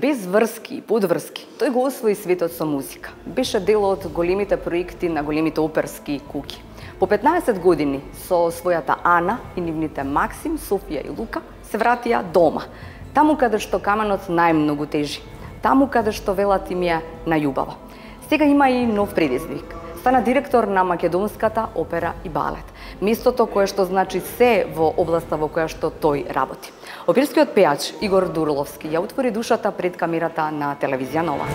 без врски и подврски, тој го освои светот со музика. Беше дел од големите проекти на големите оперски куќи. По 15 години со својата Ана и нивните Максим, Софија и Лука се вратија дома, таму каде што каменот најмногу тежи, таму каде што велат им е најубаво. Сега има и нов предизвик. Стана директор на Македонската опера и балет, местото кое што значи се во областа во која што тој работи. Оперскиот пејач Игор Дурловски ја отвори душата пред камерата на телевизија Нова.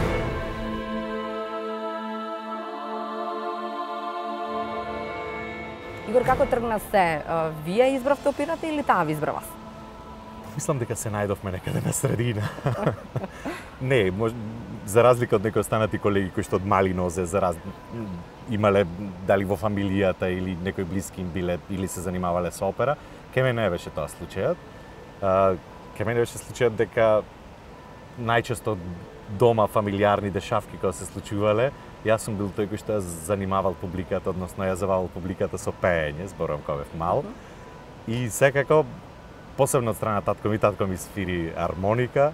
Игор, како тргна се? Вие избравте операта или таа ви избра вас? Мислам дека се најдовме некаде на средина. Не, за разлика од некои останати колеги кои што од мали нозе имале дали во фамилијата или некои блиски им биле или се занимавале со опера, ке мене не беше тоа случајот. Ке мене беше случајот дека најчесто дома фамилиарни дешавки кога се случувале, јас сум бил тој кој што занимавал публиката, односно ја завал публиката со пеење, зборувам кога бев мал. И секако посебно од страна татко ми свири армоника.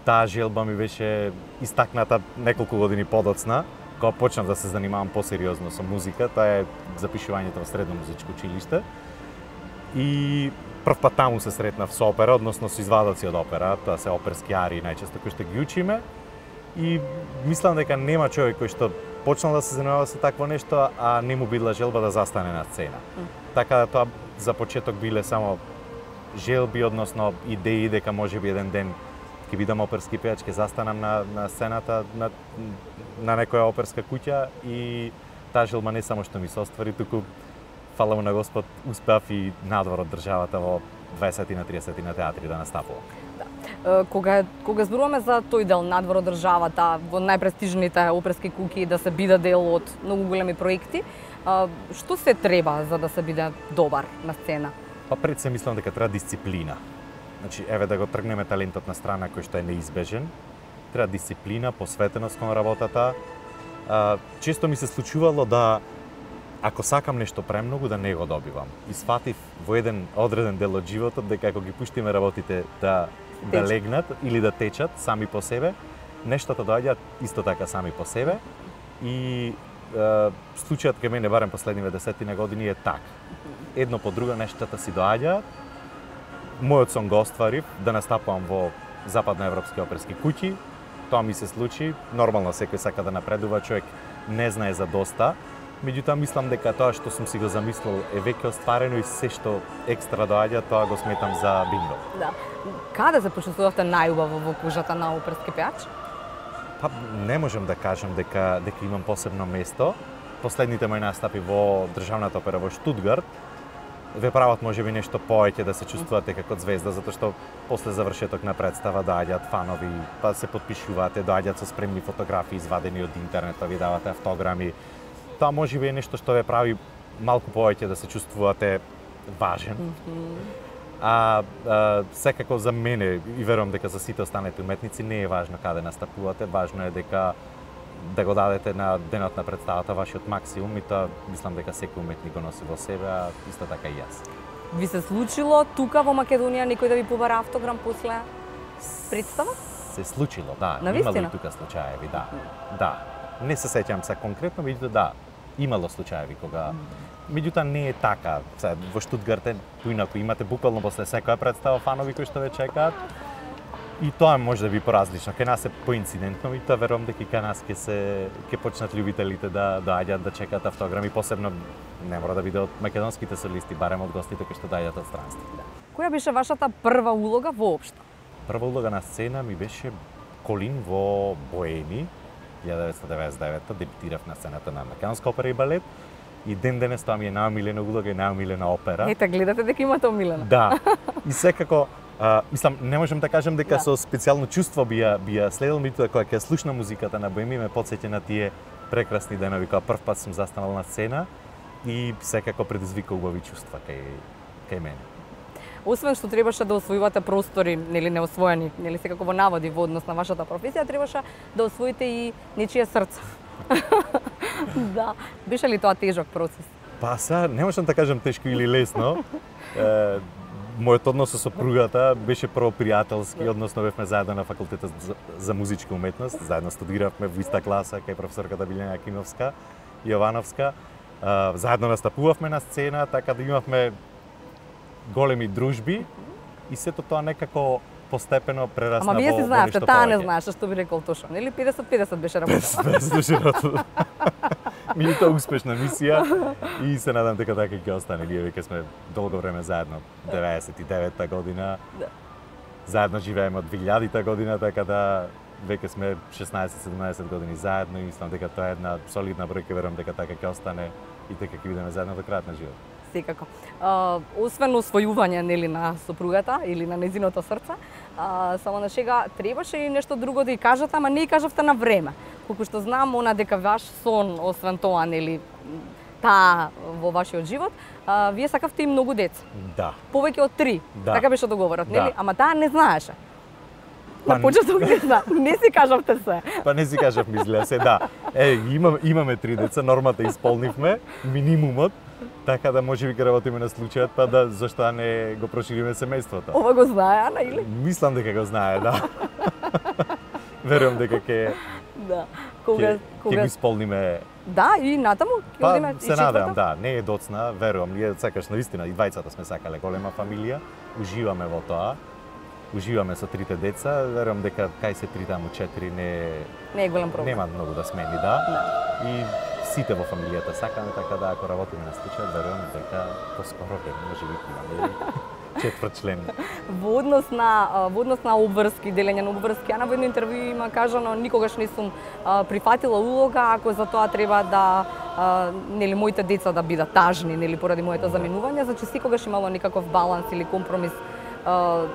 Таа желба ми беше истакната неколку години подоцна, кога почнав да се занимавам посериозно со музика, тоа е запишувањето во средно музичко училиште. И прв пат таму се сретнав со опера, односно со извадоци од опера, тоа се оперски арии најчесто кои што ги учиме. И мислам дека нема човек кој што почнал да се занимава со такво нешто, а не му била желба да застане на сцена. Така да тоа за почеток биле само желби, односно идеи дека можеби еден ден ќе бидам оперски пејач, ќе застанам на сцената на некоја оперска куќа и таа желба не само што ми се оствари, туку фала му на Господ, успеав и надвор од државата во 20-30 на театри да настапувам. Да. Кога зборуваме за тој дел надвор од државата, во најпрестижните оперски куќи да се биде дел од многу големи проекти, што се треба за да се биде добар на сцена? Па пред се мислам дека треба дисциплина. Значи, еве да го тргнеме талентот на страна кој што е неизбежен. Треба дисциплина, посветеност кон работата. Често ми се случувало да ако сакам нешто премногу да не го добивам. И сфатив во еден одреден дел од животот дека ако ги пуштиме работите да легнат или да течат сами по себе, нештата доаѓаат исто така сами по себе. И случајот кај мене барем последниве 10 години е така. Едно по друго нештата си доаѓаат. Мојот сон го остварив да настапувам во западноевропски оперски куќи. Тоа ми се случи. Нормално секој сака да напредува, човек не знае за доста. Меѓутоа мислам дека тоа што сум си го замислил е веќе остварено и се што екстра доаѓа, тоа го сметам за бинго. Да. Каде се почувствувавте најубаво во кужата на оперски пејач? Па не можам да кажам дека имам посебно место. Последните мои настапи во државната опера во Штутгарт ве прават можеби нешто повеќе да се чувствувате како звезда, затоа што после завршеток на представа доаѓаат фанови, па се потпишувате, доаѓаат со спремни фотографии извадени од интернет, па ви давате автограми. Тоа можеби е нешто што ве прави малку повеќе да се чувствувате важен. Секако за мене, и верувам дека за сите останати уметници, не е важно каде настапувате, важно е дека да го дадете на денот на представата вашиот максимум и тоа мислам дека секој уметник го носи во себе, а исто така и јас. Ви се случило тука во Македонија некој да ви побара автограм после представа? Се случило, да. Навистина? Имало и тука случаеви, да. Да. Не се сеќам се конкретно, меѓутоа да, имало случаеви кога меѓутоа не е така. Во Штутгарт е поинаку, имате буквално после секоја представа фанови кои што ве чекаат. И тоа може да би поразлично. Кај нас е поинцидентно и тоа верувам дека и кај нас ќе почнат љубителите да доаѓаат да чекаат автограми, посебно не мора да биде од македонските солисти, барем од гостите кои што доаѓаат од странство. Која беше вашата прва улога воопшто? Прва улога на сцена ми беше Колин во Боеми, 1999, дебитирав на сцената на Македонска опера и балет. И ден денес тоа ми е најомилена улога и најомилена опера. Ете, гледате дека имате омилена. Да. И секако мислам, не можам да кажам дека со специјално чувство би ја следел, меѓутоа кога ќе слушна музиката на Боеми ме потсеќа на тие прекрасни денови кога прв пат сум застанал на сцена и секако предизвика убави чувства кај мене. Освен што требаше да освојувате простори, нели неосвоени, нели секако во наводи во однос на вашата професија, требаше да освоите и нечие срце. Да, беше ли тоа тежок процес? Па сега не можам да кажам тешко или лесно. Мојот однос со сопругата беше прво пријателски, односно бевме заедно на факултетот за музичка уметност, заедно студиравме во иста класа кај професорката Билјана Јакимовска, Јовановска, заедно настапувавме на сцена, така да имавме големи дружби и сето тоа некако постепено прерасна во вие си знаевте, нешто таа не повеќе. знаеше што би рекол точно, нели 50-50 беше работа. Без душирото. Меѓутоа успешна мисија и се надам дека така ќе остане. Ние веќе сме долго време заедно, 99-та година. Да. Заедно живееме од 2000-та година, така да веќе сме 16-17 години заедно и мислам дека тоа е една солидна бројка, верувам дека така ќе остане и дека ќе бидеме заедно до крајот на живот. Секако. Освен освојување нели на сопругата или на нејзиното срце, само на шега требаше и нешто друго да ја кажете, ама не ја кажавте на време. Колку што знам, она дека ваш сон, освен тоа, нели, таа во вашиот живот, вие сакавте и многу деца. Да. Повеќе од 3. Да. Така беше договорот, нели? Да. Ама таа не знаеше. Па, На почеток не знае. Не си кажавте се. Па не си кажав, мислеа се, да. Имаме 3 деца, нормата исполнивме, минимумот, така да можеби ќе работиме на случајот, па да зашто да не го прошириме семејството. Ова го знае Ана или? Мислам дека го знае, да. Верувам дека ќе Да. ќе го исполниме. Да, и натаму ќе Па одиме се надевам, да, не е доцна, верувам. Ние сакаш навистина и двајцата сме сакале голема фамилија, уживаме во тоа. Уживаме со 3 деца, верувам дека кај се 3 таму 4 не е голем проблем. нема многу да смени, да. И сите во фамилијата сакаме, така да ако работиме на случај, верувам дека поскоро време можеби ќе имаме четврт член. Во однос на обврски, делење на обврски, Ана во едно интервју има кажано никогаш не сум прифатила улога ако за тоа треба да нели моите деца да бидат тажни, нели поради моето заминување, значи секогаш имало некаков баланс или компромис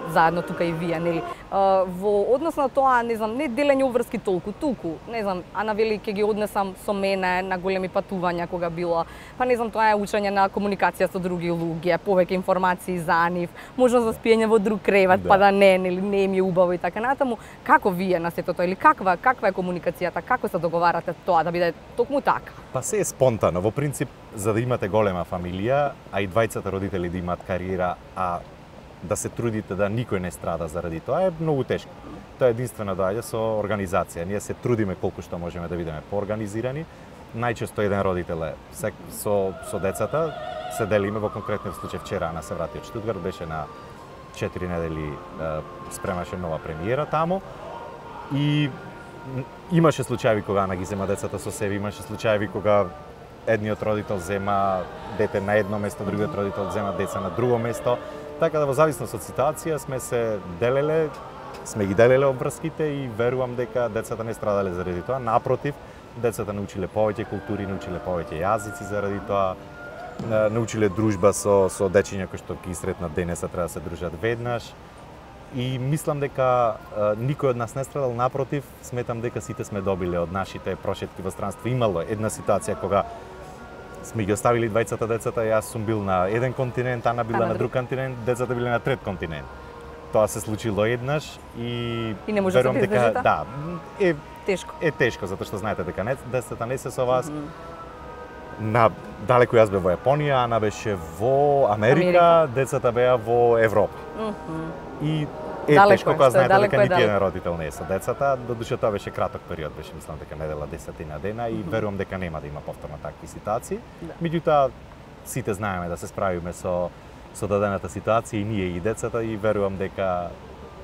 заедно тука и вие, нели. Во однос на тоа, не знам, не делење обврски толку, туку, не знам, Ана вели ќе ги однесам со мене на големи патувања кога било, па не знам, тоа е учење на комуникација со други луѓе, повеќе информации за нив, можност за спиење во друг кревет, Да. па да не, нели, не им е убаво и така натаму. Како вие на сето тоа или каква е комуникацијата, како се договарате тоа да биде токму така? Па се е спонтано. Во принцип, за да имате голема фамилија, а и двајцата родители да имаат кариера, а да се трудите да никој не страда заради тоа е многу тешко. Тоа единствено доаѓа со организација. Ние се трудиме колку што можеме да бидеме поорганизирани. Најчесто еден родител е со децата, се делиме во конкретниот случај вчера Ана се врати од Штутгарт, беше на 4 недели спремаше нова премиера таму и имаше случаи кога Ана ги зема децата со себе, имаше случаи кога едниот родител зема дете на едно место, другиот родител зема деца на друго место. Така да во зависност од ситуација сме ги делеле обврските и верувам дека децата не страдале заради тоа. Напротив, децата научиле повеќе култури, научиле повеќе јазици заради тоа, научиле дружба со дечиња кои што ги сретнат денеса треба да се дружат веднаш. И мислам дека никој од нас не страдал, напротив, сметам дека сите сме добиле од нашите прошетки во странство. Имало една ситуација кога сме ги оставили двајцата децата, јас сум бил на еден континент, Ана била на друг континент, децата биле на трет континент. Тоа се случило еднаш и не може да се издржите? Да, Тешко. Е тешко затоа што знаете дека децата не се со вас. На далеку јас бев во Јапонија, Ана беше во Америка, децата беа во Европа. И е Далеко тешко кога знаете дека нити далеко. еден родител не е со децата, додуше тоа беше краток период, беше мислам дека недела 10 дена и верувам дека нема да има повторно такви ситуации. Да. Меѓутоа сите знаеме да се справиме со дадената ситуација и ние и децата и верувам дека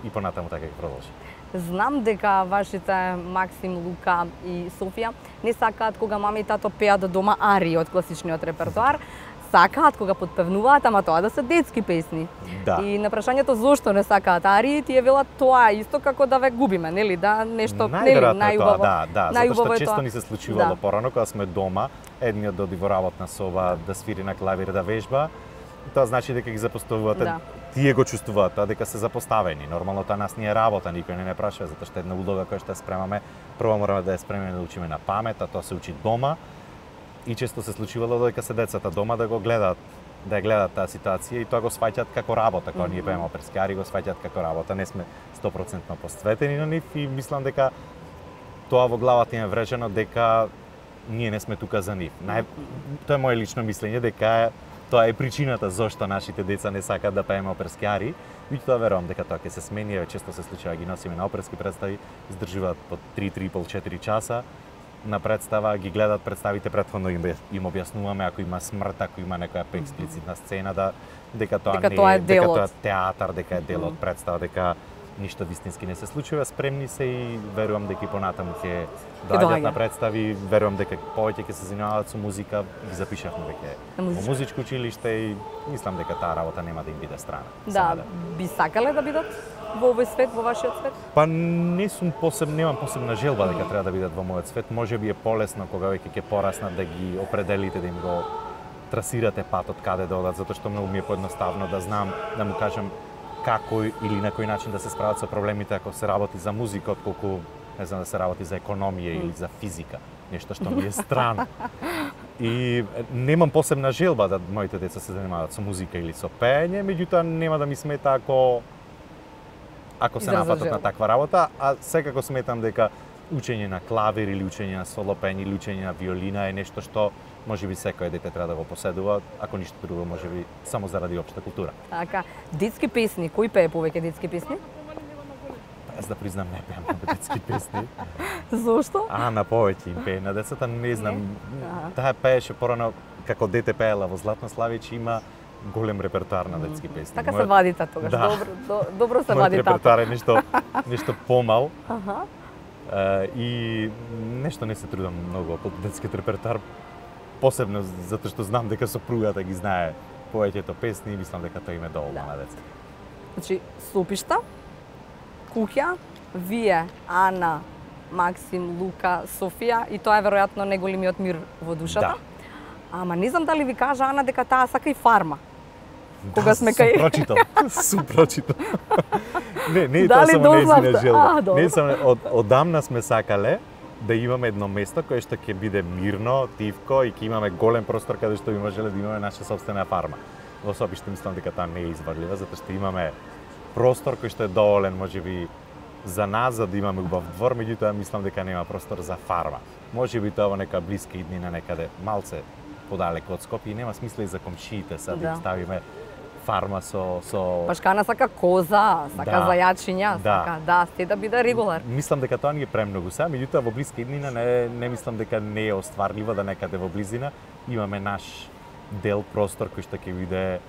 и понатаму така ќе продолжи. Знам дека вашите Максим, Лука и Софија не сакаат кога мама и тато пеат дома арии од класичниот репертоар, сакаат кога подпевнуваат, ама тоа да се детски песни. Да. И на прашањето зошто не сакаат арии, тие велат тоа исто како да ве губиме, нели? Да нешто нели најубаво. Да, затоа што често тоа. ни се случувало Да. порано кога сме дома, едниот да оди во работна соба да свири на клавир да вежба. Тоа значи дека ги запоставувате. Да. Тие го чувствуваат тоа дека се запоставени. Нормално тоа нас не е работа, никој не прашува затоа што една улога која што ја спремаме, прво мораме да ја спремаме да учиме на памет, а тоа се учи дома. И често се случувало дека се децата дома да го гледаат, да ја гледаат таа ситуација и тоа го сваќаат како работа, кога ние пееме оперски арии го сваќаат како работа, не сме 100% посветени на нив и мислам дека тоа во главата им е врежено дека ние не сме тука за нив. Тоа е моје лично мислење дека тоа е причината зошто нашите деца не сакаат да пееме оперски арии. Меѓутоа верувам дека тоа ќе се смени, често се случува ги носиме на оперски представи, издржуваат по 3,5-4 часа на представа, ги гледат представите претходно им објаснуваме ако има смрт, ако има некоја експлицитна сцена дека тоа не е, дека тоа е театар, дека е дел од представа, дека ништо вистински не се случува, спремни се и верувам дека и понатаму ќе доаѓаат на представи, верувам дека повеќе ќе се занимаваат со музика, ги запишавме дека во музичко училиште и мислам дека таа работа нема да им биде страна. Да, би сакале да бидат во овој свет, во вашиот свет? Па немам посебна желба дека треба да бидат во мојот свет, можеби е полесно кога веќе ќе пораснат да ги определите, да им го трасирате патот каде да одат, затоа што многу ми е поедноставно да знам, да му кажам како или на кој начин да се справат со проблемите ако се работи за музика, отколку не знам да се работи за економија или за физика, нешто што ми е страно. И немам посебна желба да моите деца се занимаваат со музика или со пеење, меѓутоа нема да ми смета ако се напатат на таква работа, а секако сметам дека учење на клавир или учење на соло пеење или учење на виолина е нешто што можеби секој дете треба да го поседува, ако ништо друго, можеби само заради општа култура. Така, детски песни, кој пее повеќе детски песни? Јас да признам не пеам на детски песни. Зошто? На повеќе им пее на децата, не знам. Таа пееше порано како дете пеела во Златна Славич, има голем репертоар на детски песни. Така се вадите тогаш, добро се вади тато. Репертоар е нешто помал. И нешто не се трудам многу по детскиот репертоар, посебно затоа што знам дека сопругата ги знае повеќето песни и мислам дека тоа им е доволно на деца. Значи, Сопишта, куќа, вие, Ана, Максим, Лука, Софија и тоа е веројатно неголемиот мир во душата. Ама не знам дали ви кажа Ана дека таа сака и фарма. Кога сме кај... Сум прочитал. Не тоа само нејзина желба. Не само одамна сме сакале да имаме едно место кое што ќе биде мирно, тивко и ќе имаме голем простор каде што би можеле да имаме наша собствена фарма. Во Сопиште мислам дека тоа не е извадлива, затоа што имаме простор кој што е доволен можеби за нас, за да имаме убав двор, меѓутоа мислам дека нема простор за фарма. Можеби тоа во нека блиска иднина некаде малце подалеку од Скопје и нема смисла и за комшиите да им ставиме фарма со Пашкана сака коза, сака зајачиња, сака сте да биде регулар. Мислам дека тоа ни е премногу сега, меѓутоа во блиска иднина не мислам дека не е остварливо да некаде во близина имаме наш дел простор кој што ќе биде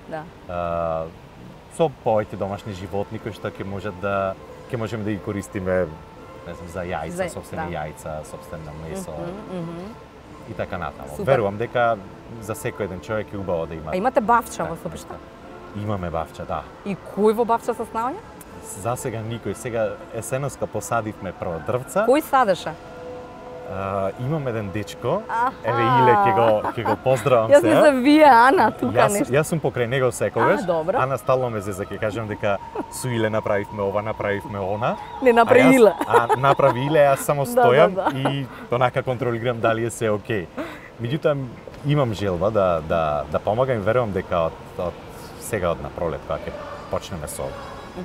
со повеќе домашни животни кои што ќе можеме да ги користиме, не знам, за јајца, собствени јајца, собствено месо. И така натаму. Верувам дека за секој еден човек е убаво да има. А имате бавча во Сопишта? Имаме бавча, да. И кој во бавча се снаоѓа? За сега никој. Сега есеноска посадивме прво дрвца. Кој садеше? Имам еден дечко, еве Иле ќе го поздравам сега. Јас мислам вие, Ана, тука нешто. Јас сум покрај него секогаш. Добро. Ана стално ме зеза, ќе кажам дека со Иле направивме ова, направивме она. Не направи Иле. Направи Иле, јас само стојам и онака контролирам дали е се окей. Меѓутоа имам желба да помагам и верувам дека од сега од напролет кога ќе почнеме со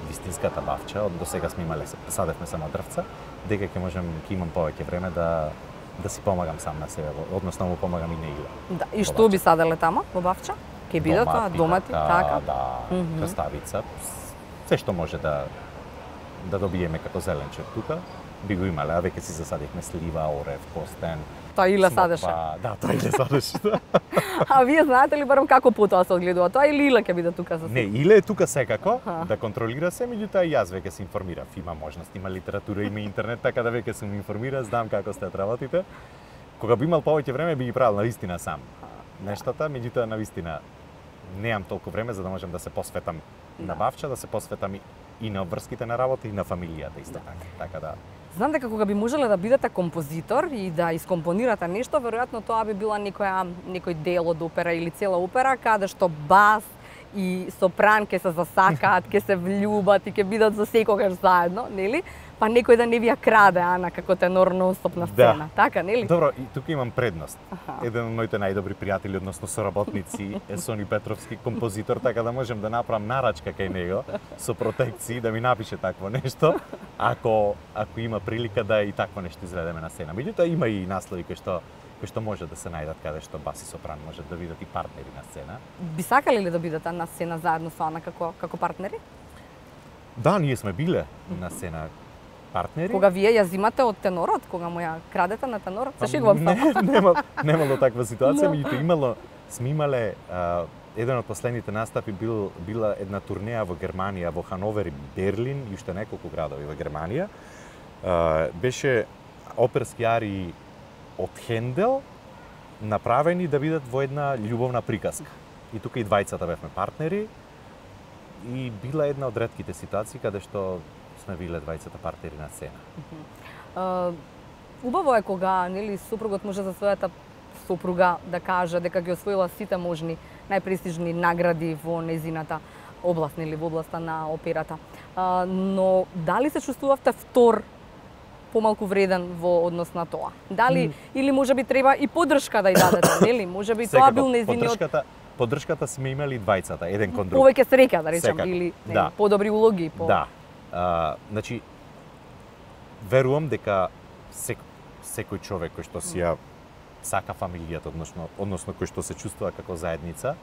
вистинската бавча, до сега сме имале садевме само дрвца, дека ќе имам повеќе време да си помагам сам на себе, односно му помагам и на Иле. Да, и што би саделе тама во бавча? Ќе биде тоа домати, така? Да, краставица, се што може да добиеме како зеленче тука, би го имале, а веќе си засадихме слива, орев, костен. Тоа Иле садеше? Да, тоа Иле садеше. А вие знаете ли барем како потоа се одгледува тоа или Иле ќе биде тука со? Не, Иле е тука секако да контролира се, меѓутоа јас веќе се информирав. Има можност, има литература, има интернет, така да веќе сум информира, знам како сте работите. Кога би имал повеќе време би ги правил навистина сам нештата, меѓутоа навистина немам толку време за да можам да се посветам на бавча, да се посветам и на обврските на работа и на фамилијата исто така да. Знам дека кога би можеле да бидете композитор и да искомпонирате нешто, веројатно тоа би била некој дел од опера или цела опера, каде што бас и сопран ќе се засакаат, ќе се влюбат и ќе бидат за секогаш заедно, нели? Па некој да не ви ја краде, Ана, како тенор нон-стоп на сцена, така, нели? Добро, и тука имам предност. Еден од моите најдобри пријатели, односно соработници, е Сони Петровски, композитор, така да можем да направам нарачка кај него со протекции да ми напише такво нешто, ако има прилика да и такво нешто изведеме на сцена. Меѓутоа има и наслови кои што може да се најдат каде што бас и сопран може да бидат и партнери на сцена. Би сакале ли да бидете на сцена заедно со Ана како партнери? Да, ние сме биле на сцена партнери. Кога вие ја зимате од тенорот, кога му ја крадете на тенорот, се шегувам само. Немало таква ситуација, меѓутоа сме имале еден од последните настапи била една турнеја во Германија, во Хановер и Берлин и уште неколку градови во Германија. Беше оперски арии од Хендел направени да бидат во една љубовна приказка. И тука и двајцата бевме партнери и била една од ретките ситуации каде што сме биле двајцата партнери на сцена. Убаво е кога нели супругот може за својата супруга да каже дека ги освоила сите можни најпрестижни награди во незината област, нели во областа на операта. Но дали се чувствувавте втор помалку вреден во однос на тоа? Дали или можеби треба и поддршка да ја дадете, нели? Можеби тоа бил незиниот поддршката сме имали двајцата, еден кон друг. Повеќе среќа, да речем, или да. Подобри улоги, Да. Значи верувам дека секој човек кој што си ја сака фамилијата, односно кој што се чувствува како заедница,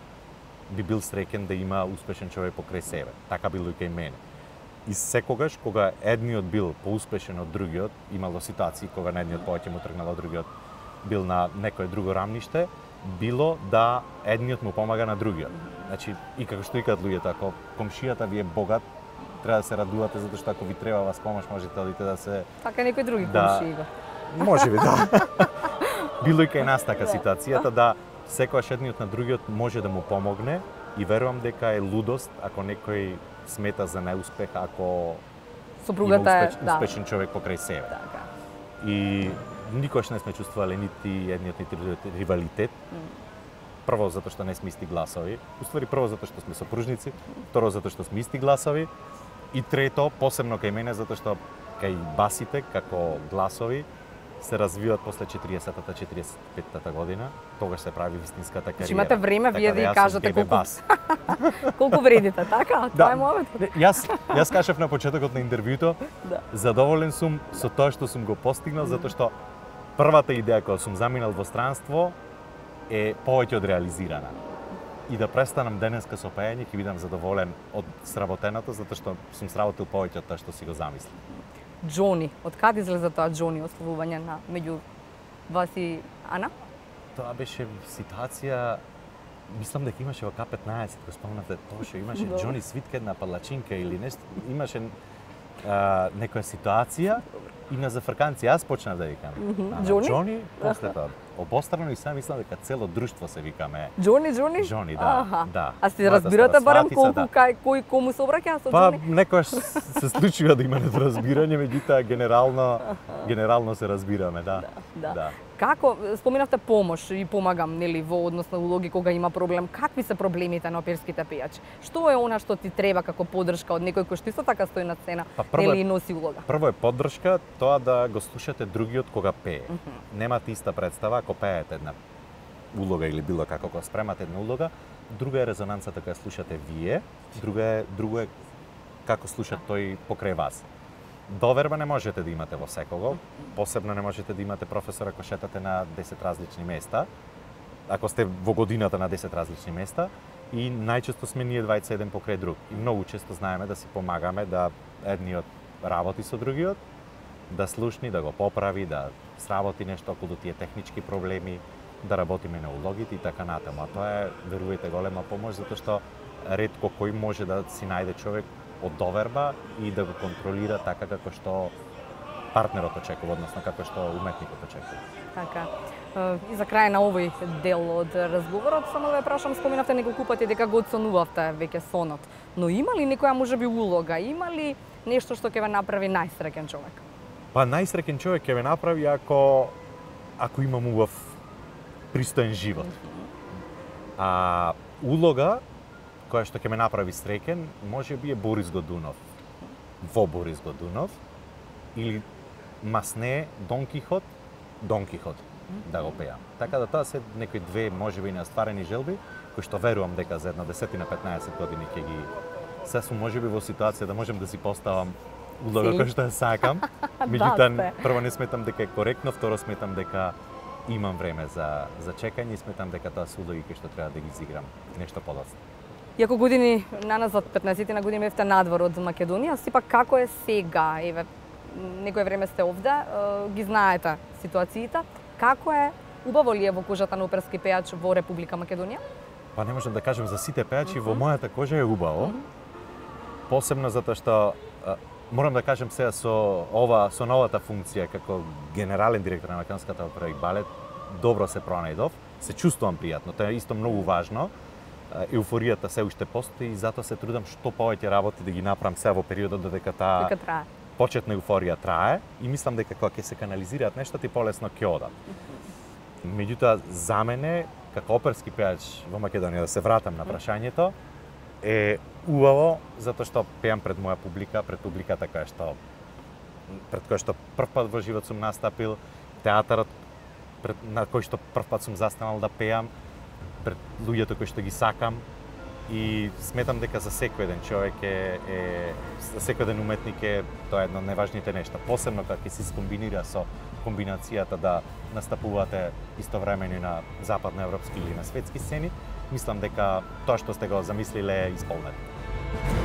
би бил среќен да има успешен човек покрај себе. Така било и кај мене. И секогаш кога едниот бил поуспешен од другиот, имало ситуации кога на едниот повеќе му тргнало, другиот бил на некое друго рамниште, било да едниот му помага на другиот. Значи, и како што викаат луѓето, ако комшијата ви е богат, треба да се радувате затоа што ако ви треба вас помош, можете да одите да се така некои други комшии. Можеби да. Било и кај нас така ситуацијата да секогаш едниот на другиот може да му помогне и верувам дека е лудост ако некој смета за неуспех ако супругата е успешен човек покрај себе. Така. И никош не сме чувствувале нити едниот нити другиот ривалитет. Прво затоа што не сме исти гласови, уствари прво затоа што сме сопружници, второ затоа што сме исти гласови и трето посебно кај мене затоа што кај басите како гласови се развиваат после 40-та, 45-та година, тогаш се прави вистинската кариера. Имате време вие да ја кажете колку вредите, така? Да. Тоа е моментот. Јас кажав на почетокот на интервјуто, задоволен сум со тоа што сум го постигнал, затоа што првата идеја која сум заминал во странство е повеќе од реализирана. И да престанам денеска со пеење, ќе бидам задоволен од сработеното, затоа што сум сработил повеќе од тоа што си го замислил. Џони, од каде излезе тоа Џони, ословување на меѓу вас и Ана? Тоа беше ситуација, мислам дека имаше во К15, го спомнавте, точно имаше Џони свитка една палачинка или нешто, имаше некоја ситуација и на зафрканци јас почнав да викам. Џони, после тоа обострано и сам мислам дека цело друштво се викаме. Џони? Џони, да, да. А си разбирате барем колку кој кому се обраќа со Џони? Па некојаш се случува да има недоразбирање, меѓутоа генерално се разбираме, да. Да. Како споменавте помош и помагам, нели, во однос на улоги кога има проблем, какви се проблемите на оперските пејачи? Што е она што ти треба како поддршка од некој кој што исто така стои на сцена, нели, и носи улога? Прво е поддршка, тоа да го слушате другиот кога пее. Немате иста представа ако пеете една улога или било како кога спремате една улога, друга е резонанцата кога слушате вие, друго е како слуша тој покрај вас. Доверба не можете да имате во секого, посебно не можете да имате професор ако шетате на 10 различни места, ако сте во годината на 10 различни места, и најчесто сме ние двајца еден покрај друг. И многу често знаеме да си помагаме, да едниот работи со другиот, да слушни, да го поправи, да сработи нешто околу тие технички проблеми, да работиме на улогите и така натаму. А тоа е, верувајте, голема помош, затоа што ретко кој може да си најде човек од доверба и да го контролира така како што партнерот очекува, односно како што уметникот очекува. Така. И за крај на овој дел од разговорот, само да ја прашам, споменавте неколку пати дека го оценувавте веќе сонот. Но има ли некоја можеби улога, има ли нешто што ќе ве направи најсреќен човек? Па најсреќен човек ќе ве направи ако имам убав пристоен живот. А улога која што ќе ме направи среќен, можеби е Борис Годунов. Во Борис Годунов, или Масне, Дон Кихот да го пеам. Така да тоа се некои две можеби неостварени желби кои што верувам дека за една 10-15 години ќе ги се сум можеби во ситуација да можам да си поставам улога кој што ја сакам. Меѓутоа прво не сметам дека е коректно, второ сметам дека имам време за чекање и сметам дека тоа се улоги кои што треба да ги изиграм нешто подоцна. Иако години наназад 15 на години бевте надвор од Македонија, сепак како е сега? Еве некое време сте овде, ги знаете ситуациите. Како е? Убаво ли е во кожата на оперски пејач во Република Македонија? Па не можам да кажам за сите пејачи, во мојата кожа е убаво. Посебно затоа што морам да кажам сега со новата функција како генерален директор на Македонската опера и балет, добро се пронајдов, се чувствувам пријатно, тоа е исто многу важно. Еуфоријата се уште постои и затоа се трудам што повеќе работи да ги направам сега во периодот додека таа почетна еуфорија трае и мислам дека кога ќе се канализираат нештата и полесно ќе одат. Меѓутоа за мене како оперски пејач во Македонија, да се вратам на прашањето, е убаво затоа што пеам пред моја публика, пред публиката пред која што првпат во живот сум настапил, театарот на кој што првпат сум застанал да пеам, пред луѓето кои што ги сакам и сметам дека за секој еден човек за секој еден уметник е тоа едно од најважните нешта, посебно кога ќе се скомбинира со комбинацијата да настапувате истовремено на западноевропски или на светски сцени, мислам дека тоа што сте го замислиле е исполнето.